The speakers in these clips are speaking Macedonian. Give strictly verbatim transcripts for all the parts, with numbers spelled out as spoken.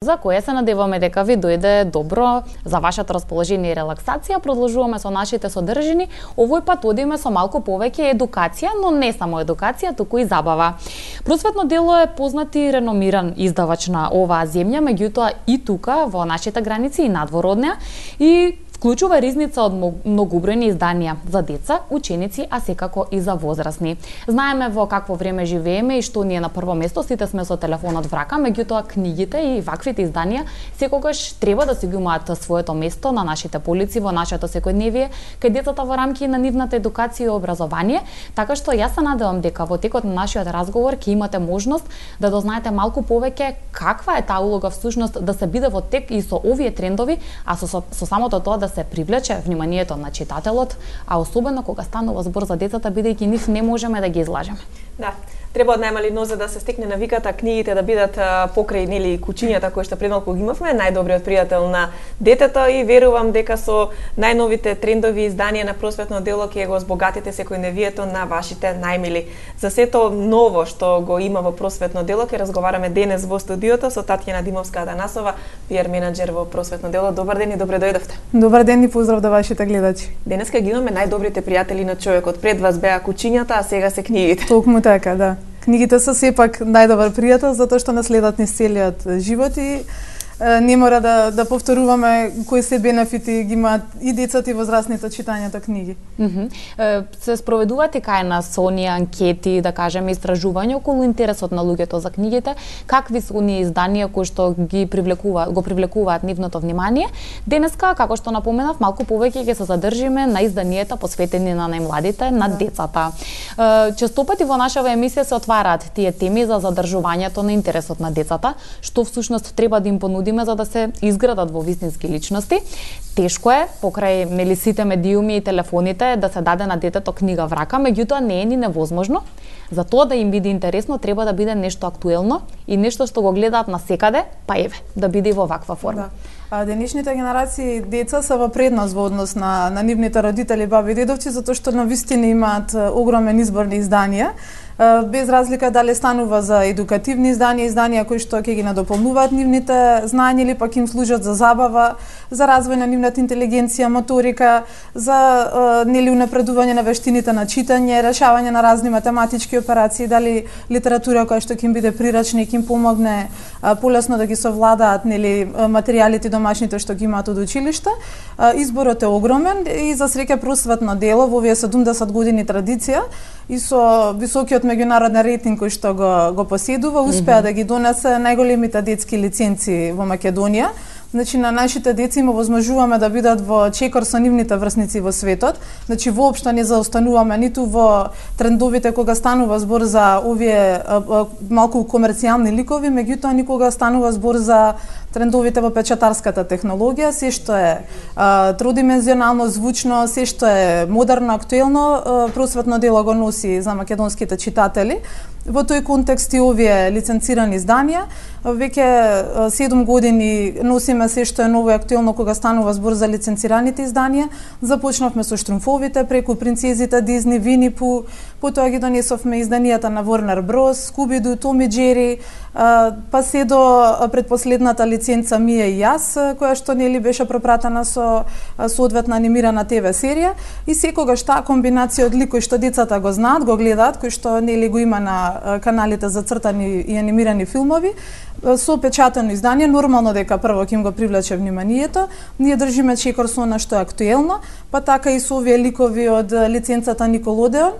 за кое се надеваме дека ви дојде добро за вашето расположение и релаксација. Продолжуваме со нашите содржини. Овој пат одиме со малку повеќе едукација, но не само едукација, туку и забава. Просветно дело е познат и реномиран издавач на оваа земја, меѓутоа и тука во нашите граници и надвор од неа, и вклучува ризница од многобројни изданија за деца, ученици, а секако и за возрастни. Знаеме во какво време живееме и што ни е на прво место, сите сме со телефонот в рака, меѓутоа книгите и ваквите изданија секогаш треба да си ги имаат своето место на нашите полици, во нашето секојдневие, кај децата во рамки на нивната едукација и образование, така што јас се надевам дека во текот на нашиот разговор ќе имате можност да дознаете малку повеќе каква е таа улога всушност да се биде во тек и со овие трендови, а со, со, со самото тоа да се привлече вниманието на читателот, а особено кога станува збор за децата, бидејќи нив не можеме да ги излажеме. Да. Треба од најмали нозе да се стекне навиката книгите да бидат покрај нели кучињата кои што предмалку ги имавме, најдобриот пријател на детето, и верувам дека со најновите трендови изданија на просветно дело ќе го збогатите секојдневието на вашите најмили. За сето ново што го има во просветно дело ќе разговараме денес во студиото со Татјана Димовска-Атанасова, пиар менаџер во просветно дело. Добар ден и добре дојдовте. Добар ден и поздрав до вашите гледачи. Денеска ги имаме најдобрите пријатели на човекот. Пред вас беа кучињата, а сега се книгите. Токму така, да. Книгите се сепак најдобар пријател затоа што наследат низ целиот живот и не мора да да повторуваме кои се бенефити ги имаат и децата и возрастните читањето книги. Mm -hmm. Се спроведувате кај нас оние анкети, да кажеме истражувања околу интересот на луѓето за книгите, какви се оние изданија кои што ги привлекуваат, го привлекуваат нивното внимание. Денеска, како што напоменав, малку повеќе ќе се задржиме на изданијата посветени на најмладите, на да. децата. Честопати во нашава емисија се отвараат тие теми за задржувањето на интересот на децата, што всушност треба да им понудиме за да се изградат во вистински личности. Тешко е, покрај нели сите медиуми и телефоните, да се даде на детето книга в рака, меѓутоа не е ни невозможно. За тоа да им биде интересно, треба да биде нешто актуелно и нешто што го гледаат на секаде, па еве, да биде во ваква форма. Да. А денешните генерации деца се во предност во однос на, на нивните родители, баби и дедовци, затоа што на вистина имаат огромен избор на изданија, без разлика дали станува за едукативни изданија, изданија кои што ќе ги надополнуваат нивните знања или пак им служат за забава, за развој на нивната интелигенција, моторика, за нели унапредување на вештините на читање, решавање на разни математички операции, дали литература која што ќе им биде прирачна и ќе им помогне полесно да ги совладаат нели материјалите домашните што ги имаат од училиште. Изборот е огромен и за среќа просветно дело во овие седумдесет години традиција и со високиот меѓународен рейтинг кој што го, го поседува, успеа mm -hmm. да ги донесе најголемите детски лиценци во Македонија. Значи, на нашите деца им овозможуваме да бидат во чекор со нивните врсници во светот. Значи, воопшто не заостануваме ниту во трендовите кога станува збор за овие а, а, малку комерцијални ликови, меѓутоа никога станува збор за трендовите во печатарската технологија, се што е а, тродимензионално, звучно, се што е модерно, актуелно, а, просветно дело го носи за македонските читатели. Во тој контекст и овие лиценцирани изданија, веќе седум години носиме се што е ново и актуелно кога станува збор за лиценцираните изданија. Започнавме со Штрумфовите, преку Принцезите, Дизни, Вини Пу, потоа ги донесовме изданијата на Warner Bros, Scooby-Doo, Том и Джери, па се до предпоследната лиценца Мија и јас, која што нели беше пропратена со соодветна анимирана ТВ серија, и секогаш таа комбинација од лик кои што децата го знаат, го гледаат, кои што нели го има на каналите за цртани и анимирани филмови, со печатено издание, нормално дека прво ќе им го привлече вниманието. Ние држиме чекор со она што е актуелно, па така и со овие ликови од лиценцата Николодеон,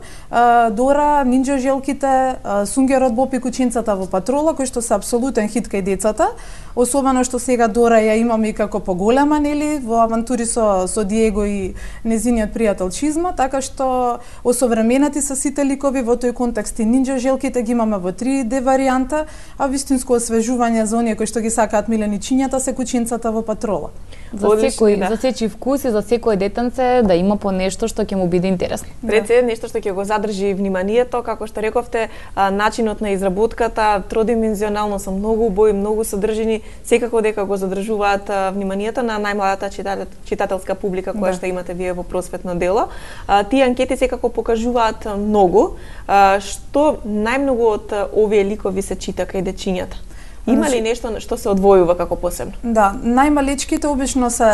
Дора, Нинџа желките, Сунгерот Боб и кучинцата во патрола, кои што се апсолутен хит кај децата. Особено што сега Дора ја имаме и како поголема, нели, во авантури со со Диего и незиниот пријател Чизма, така што осовременати се сите ликови во тој контекст. И Нинџа желките ги имаме во три Д варијанта, а вистинско освежување за оние кои што ги сакаат миленичињата се кучинцата во патрола. За секој, да. За сечи вкус и за секој детенце да има по нешто што ќе му биде интересно. Реце нешто што ќе го задржи вниманието, како што рековте, начинот на изработката, тродимензионално се многу убави, многу содржини, секако дека го задржуваат вниманието на најмладата читателска публика која да. што имате вие во просветно дело. Тие анкети секако покажуваат многу. Што најмногу од овие ликови се чита кај дечињата? Има ли нешто што се одвојува како посебно? Да, најмалечките обично се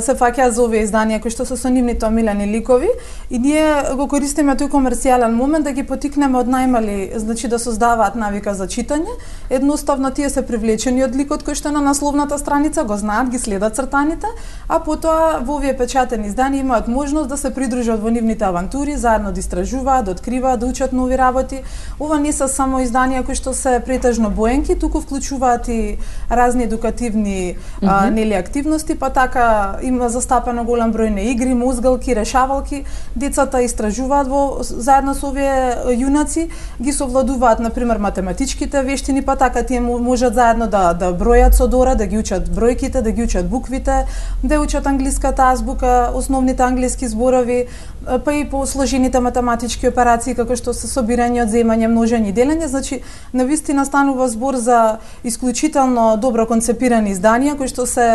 се фаќаат за овие изданија кои што се со нивните омилени ликови и ние го користиме тој комерцијален момент да ги потикнеме од најмали, значи да создаваат навика за читање. Едноставно тие се привлечени од ликот кој што е на насловната страница, го знаат, ги следат цртаните, а потоа во овие печатени изданија имаат можност да се придружат во нивните авантури, заедно да истражуваат, да откриваат, да учат нови работи. Ова не се само изданија кои што се претежно боенки, туку вклучуваат и разни едукативни mm -hmm. а, нели активности, па така има застапено голем број на игри, мозгалки, решавалки. Децата истражуваат во заедно со овие јунаци, ги совладуваат на пример математичките вештини, па така тие можат заедно да да бројат со Дора, да ги учат бројките, да ги учат буквите, да учат англиската азбука, основните англиски зборови, па и по сложените математички операции како што се собирање, одземање, множење и делење. Значи навистина станува збор за исклучително добро концепирани изданија кои што се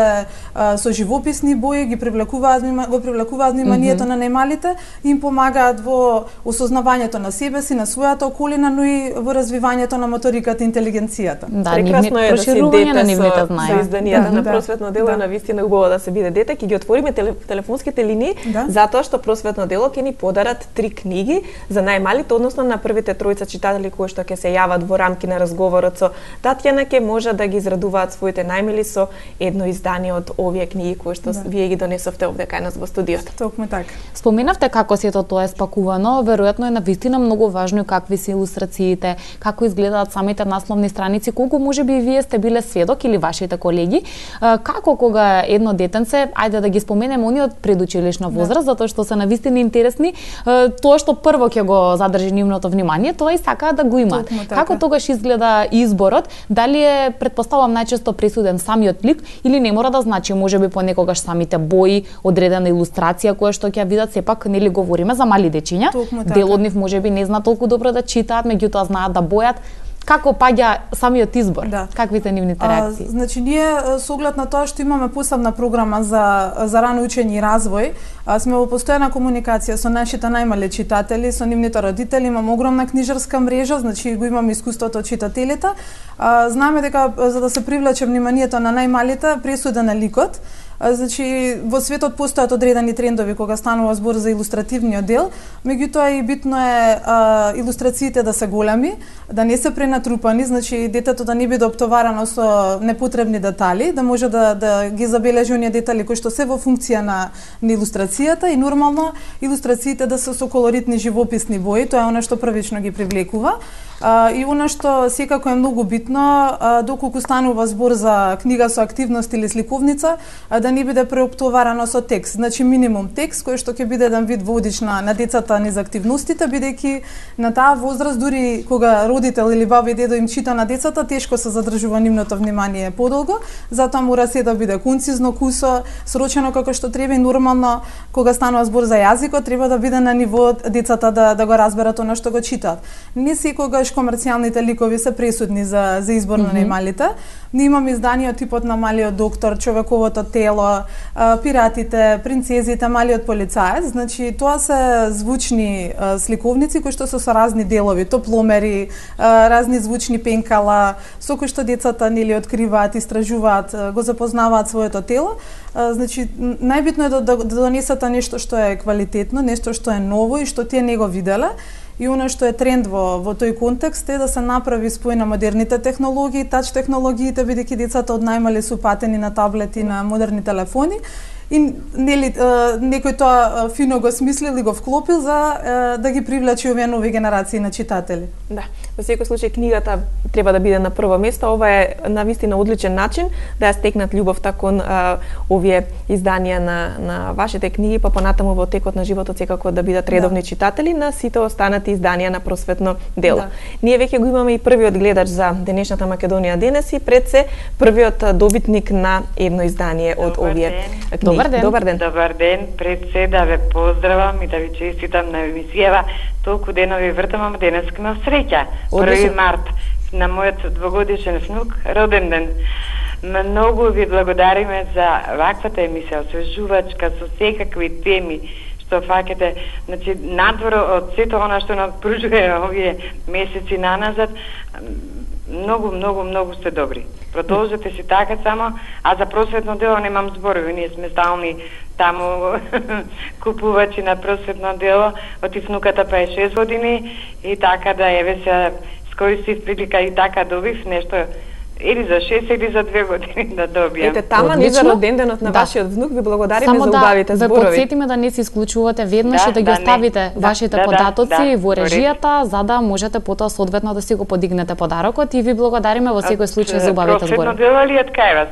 а, со живописни бои ги привлекуваат го привлекуваат вниманието mm -hmm. на најмалите и им помагаат во осознавањето на себе си, на својата околина, но и во развивањето на моториката и интелигенцијата. Да, прекрасно е да се дете на нивните знаења. Изданијата да, на просветно дело да. Навистина убаво да се биде дете. Ќе ги отвориме телефонските линии да. Затоа што просветно дело ќе ни подарат три книги за најмалите, односно на првите тројца читатели кои што ќе се јават во рамки на разговорот со Татјана, ќе може да ги израдуваат своите најмили со едно издание од овие книги кои што да. Вие ги донесовте овде кај нас во студиото. Токму така. Споменавте како сето тоа е спакувано, веројатно е навистина многу важно какви се илустрациите, како изгледаат самите насловни страници, колку можеби и вие сте биле сведок или вашите колеги, како кога едно детенце, ајде да ги споменеме они од предучилишна возраст, да. Затоа што се навистина интересни, тоа што прво ќе го задржи нивното внимание, тоа и сакаат да го имаат. Така. Како тогаш изгледа изборот? Дали е, предпоставам, најчесто пресуден самиот лик или не мора да значи, можеби понекогаш самите бои, одредена илустрација која што ќе видат, сепак нели говориме за мали дечиња. Дел од нив можеби не знаат толку добро да читаат, меѓутоа знаат да бојат. Како паѓа самиот избор? Да. Каквите нивните реакции? А, значи ние со оглед на тоа што имаме посебна програма за за рано учење и развој, а, сме во постојана комуникација со нашите најмали читатели, со нивните родители, имаме огромна книжарска мрежа, значи го имаме искуството од читателите. А, знаеме дека за да се привлече вниманието на најмалите, пресуден е ликот. Значи, во светот постојат одредени трендови кога станува збор за илустративниот дел, меѓутоа и битно е а, илустрациите да се големи, да не се пренатрупани, значи детето да не биде оптоварано со непотребни детали, да може да, да ги забележи оние детали кои што се во функција на, на илустрацијата и нормално илустрациите да се со колоритни живописни бои, тоа е она што првично ги привлекува. А, и она што секако е многу битно, а, доколку станува збор за книга со активност или сликовница, а, да не биде преоптоварано со текст. Значи минимум текст кој што ќе биде еден вид водич на, на децата низ активностите, бидејќи на таа возраст дури кога родител или баба и дедо им чита на децата, тешко се задржува нивното внимание подолго, затоа мора се да биде концизно, кусо, срочено како што треба и нормално кога станува збор за јазикот, треба да биде на ниво децата да да го разберат она што го читаат. Не секогаш комерцијалните ликови се пресудни за за избор на mm -hmm. најмалите. Ние имаме изданија типот на Малиот доктор, Човековото тело, Пиратите, Принцезите, Малиот полицаец. Значи тоа се звучни сликовници кои што се со разни делови, топломери, разни звучни пенкала, со кои што децата нели откриваат, истражуваат, го запознаваат своето тело. Значи најбитно е да, да, да донесете нешто што е квалитетно, нешто што е ново и што тие не го виделе. И она што е тренд во, во тој контекст е да се направи спој на модерните технологии, тач технологиите, бидејќи децата од најмали су патени на таблети, на модерни телефони. И нели некој тоа фино го смислил и го вклопил за да ги привлече овие нови генерации на читатели. Да, во секој случај книгата треба да биде на прво место. Ова е навистина одличен начин да ја стекнат љубовта кон а, овие изданија на на вашите книги, па понатаму во текот на животот секако да бидат редовни да. Читатели на сите останати изданија на просветно дело. Да. Ние веќе го имаме и првиот гледач за денешната Македонија денес и пред се првиот добитник на едно издание од овие книги. Добар ден. Добар ден. Добар ден. Пред се да ве поздравам и да ви честитам на емисијава. Толку денови вртам, ама денес имам среќа. први март на мојот двогодишен внук роден ден. Многу ви благодариме за ваквата емисија, освежувачка со секакви теми што фаќате, значи надвор од сето она што нам пружува овие месеци наназад. Многу, многу, многу сте добри. Продолжете си така само, а за просветно дело немам зборови. Ние сме стални таму купувачи на просветно дело. Отив внуката па е шест години и така да еве се скористив прилика и така добив нешто или за шест или за две години да добијам. Ете, тама ни за роденденот на да. вашиот внук ви благодариме Само за убавите зборови. зборови. Само да ве подсетиме да не се исклучувате веднаш да, и да ги да, оставите да, вашите да, податоци да, во да, режијата, за да можете потоа соодветно да си го подигнете подарокот и ви благодариме во секој случај за убавите зборови. Просветно дело ли од кај вас?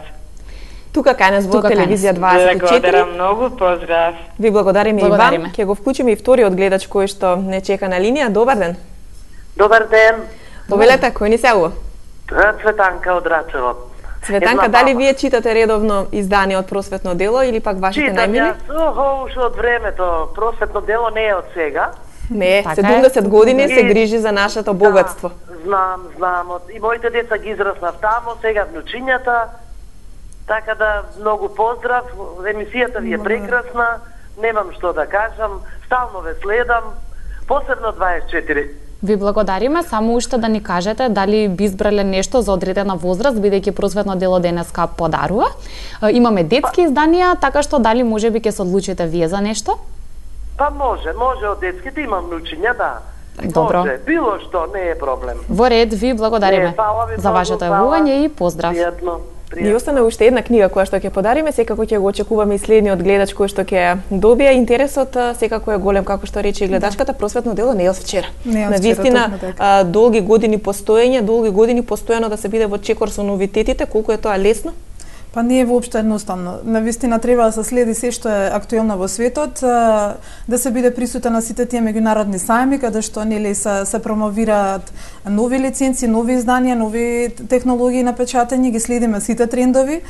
Тука кај нас во телевизија дваесет и четири. Благодарам многу, поздрав. Ви благодариме, благодариме. и вам. Ќе го вклучиме и вториот гледач кој што не чека на линија. Добар ден. Добар ден. Повелете, кој ни се јавува? Цветанка од Рачево. Цветанка, дали вие читате редовно издание од Просветно дело или пак вашите најмили? Читам, јас уште од времето. Просветно дело не е од сега. Не, така седумдесет години се грижи за нашето богатство. Да, знам, знам. И моите деца ги израснав тамо, сега внучињата. Така да, многу поздрав. Емисијата ви е прекрасна. Немам што да кажам. Стално ве следам. Посебно дваесет и четири. Ви благодариме, само уште да ни кажете дали би избрале нешто за одредена возраст, бидејќи Просветно дело денеска подарува. Имаме детски изданија, така што дали можеби ќе се одлучите вие за нешто? Па може, може од детските, имам внучиња, да. Добро. Може, било што, не е проблем. Во ред, ви благодариме не, ви за вашето јавување и поздрав. Пријатно. Ни остана уште една книга која што ќе подариме, секако ќе го очекуваме и следниот гледач кој што ќе добие. Интересот секако е голем, како што рече и гледачката. Просветно дело не е од вчера. Не е од Навистина, така. долги години постоење, долги години постојано да се биде во чекор со новитетите, колку е тоа лесно? Па не е воопшто едноставно. Навистина треба да се следи се што е актуелно во светот, да се биде присутен на сите тие меѓународни сајми каде што нели се, се промовираат нови лиценци, нови изданија, нови технологии на печатење, ги следиме сите трендови.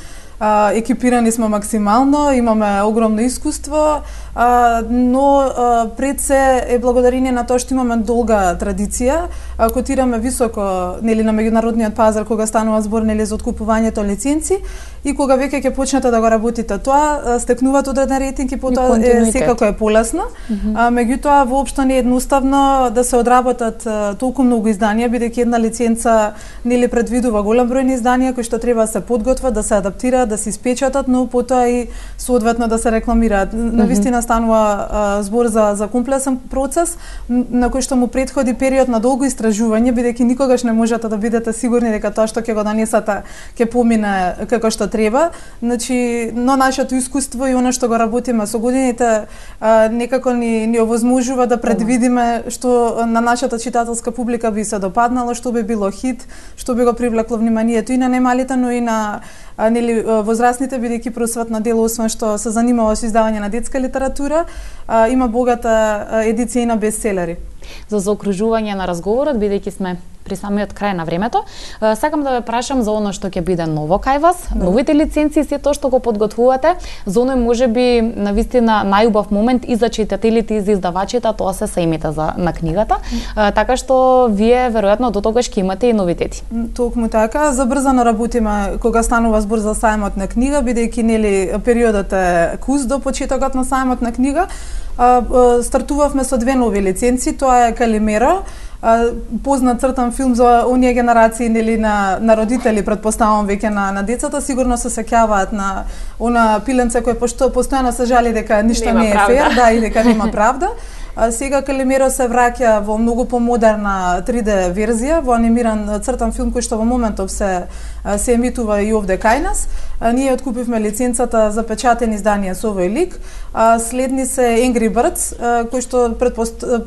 А, екипирани сме максимално, имаме огромно искуство, а, но а, пред се е благодарение на тоа што имаме долга традиција, а, котираме високо нели на меѓународниот пазар кога станува збор нели за откупувањето лиценци и кога веќе ќе почнете да го работите тоа, стекнуваат одреден рейтинг и потоа е, секако е полесно. Mm -hmm. а, меѓутоа воопшто не е едноставно да се одработат а, толку многу изданија, бидејќи една лиценца нели предвидува голем број изданија кои што треба да се подготват, да се адаптираат, да се испечатат, но потоа и соодветно да се рекламираат. Mm -hmm. Навистина станува а, збор за за комплексен процес на кој што му претходи период на долго истражување, бидејќи никогаш не можете да бидете сигурни дека тоа што ќе го донесете ќе помине како што треба. Значи, но нашето искуство и она што го работиме со годините а, некако ни ни овозможува да предвидиме што на нашата читателска публика би се допаднало, што би било хит, што би го привлекло вниманието и на немалите, но и на а, нели возрастните, бидејќи Просветно дело освен што се занимава со издавање на детска литература, а, има богата едиција на бестселери. За заокружување на разговорот, бидејќи сме при самиот крај на времето, сакам да ве прашам за оно што ќе биде ново кај вас, да. Новите лиценци и се тоа што го подготвувате, за оној можеби навистина најубав момент и за читателите и за издавачите, тоа се сајмите за на книгата, mm. така што вие веројатно до тогаш ќе имате и новитети. Токму така, забрзано работиме кога станува збор за сајмот на книга, бидејќи нели периодот е кус до почетокот на сајмот на книга. Стартувавме со две нови лиценци, тоа е Калимеро, познат цртан филм за оние генерации нели на на родители, претпоставувам веќе на на децата, сигурно се сеќаваат на она пиленце кој пошто постојано се жали дека ништо нема не е правда. фер, да, и дека нема правда. А, сега Калимеро се враќа во многу помодерна три Д верзија, во анимиран цртан филм кој што во моментов се се емитува и овде кај нас. А, ние откупивме лиценцата за печатени изданија со овој лик. А, следни се Angry Birds, а, кои што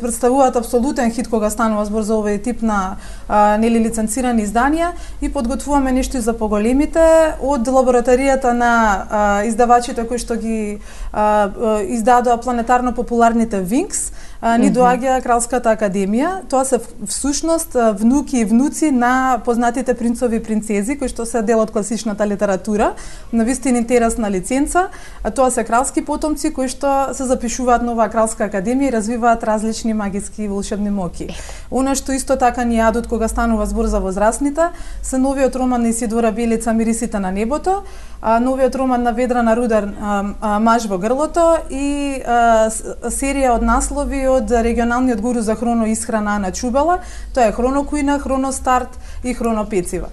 представуваат апсолутен хит кога станува збор за овој тип на а, нели лиценцирани изданија и подготвуваме нешто и за поголемите од лабораторијата на а, издавачите кои што ги а, а, издадоа планетарно популарните Винкс. Uh, ни доаѓа Кралската академија. Тоа се всушност внуки и внуци на познатите принцови и принцези кои што се дел од класичната литература, на вистина интересна лиценца, а тоа се кралски потомци кои што се запишуваат на оваа кралска академија и развиваат различни магиски и волшебни моки. Она што исто така ни јадат кога станува збор за возрастните, се новиот роман на Исидора Белица Мирисите на небото, а, новиот роман на Ведрана Рудар а, а, Маж во грлото и а, серија од наслови од регионалниот гуру за хроноисхрана Ана Чубала, тоа е Хронокуина, Хроностарт и Хронопецива.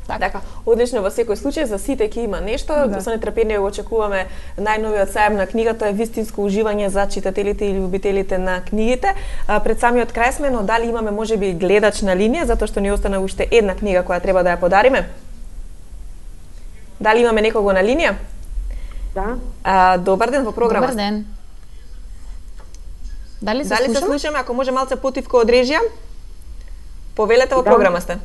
Така. така, одлично во секој случај, за сите ќе има нешто, да. Со нетрпение го очекуваме најновиот саем на книга, тоа е вистинско уживање за читателите и љубителите на книгите. А, пред самиот крај сме, но дали имаме можеби гледач на линија, затоа што ни остана уште една книга која треба да ја подариме? Дали имаме некого на линија? Да. А, добар ден во програма. Добар ден. Дали се Дали слушаме? се слушаме, ако може малце потивко од режија? Повелете во Да. програма сте.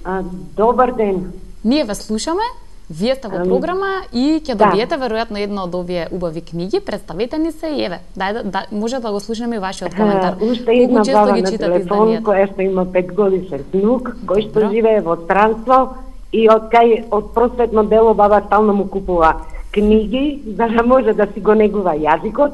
А, добар ден. Ние ве слушаме, вие сте во програма и ќе Да. добиете веројатно една од овие убави книги. Представете ни се и еве. Дај да, да може да го слушаме и вашиот коментар. А, уште Колку една често баба ги на читате телефон изданијата? која што има петгодишен внук, кој што Добро. живее во странство и од кај од просветно дело баба стално му купува книги за да може да си го негува јазикот.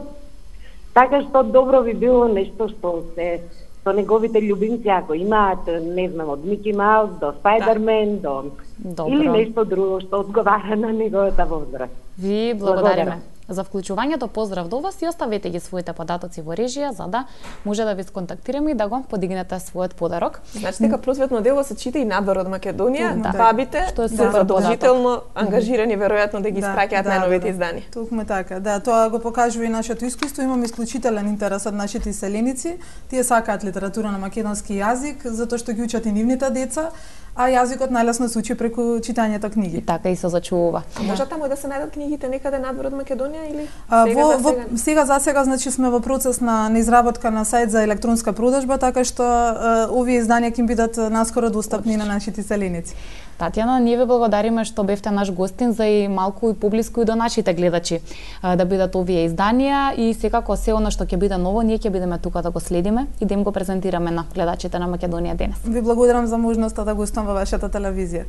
Така што добро би било нешто што се со неговите љубимци, ако имаат, не знам, од Мики Маус до Спајдермен, до Добро. или нешто друго што одговара на неговата возраст. Ви благодариме Благодарам. за вклучувањето. Поздрав до вас и оставете ги своите податоци во режија за да може да ви сконтактираме и да го подигнете својот подарок. Значи дека просветно дело се чита и надвор од Македонија, Да. бабите Што е се супер задолжително ангажирани веројатно да ги Да, испраќаат да, најновите да, да. издания. Токму така, да, тоа го покажува и нашето искуство. Имаме исклучителен интерес од нашите иселеници. Тие сакаат литература на македонски јазик, затоа што ги учат и нивните деца, а јазикот најлесно се учи преку читањето книги. И така и се зачувува. А може таму да се најдат книгите некаде надвор од Македонија или А, сега во, за во, сега? сега за сега значи сме во процес на, на изработка на сајт за електронска продажба, така што е, овие изданија ќе бидат наскоро достапни на нашите иселеници. Татјана, ние ве благодариме што бевте наш гостин за и малку и поблиску и до нашите гледачи а, да бидат овие изданија и секако се она што ќе биде ново, ние ќе бидеме тука да го следиме и да им го презентираме на гледачите на Македонија денес. Ви благодарам за можноста да гостувам во вашата телевизија.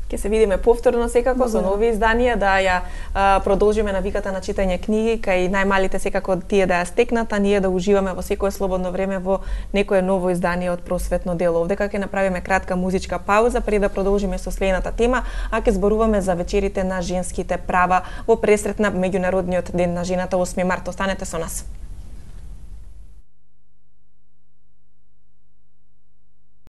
Ќе се видиме повторно секако со Благодарам. нови изданија, да ја а, продолжиме навиката на читање книги, кај најмалите секако тие да ја стекнат, а ние да уживаме во секое слободно време во некое ново издание од просветно дело. Овдека ќе направиме кратка музичка пауза пред да продолжиме со следната тема, а ќе зборуваме за вечерите на женските права во пресрет на меѓународниот ден на жената осми март. Останете со нас.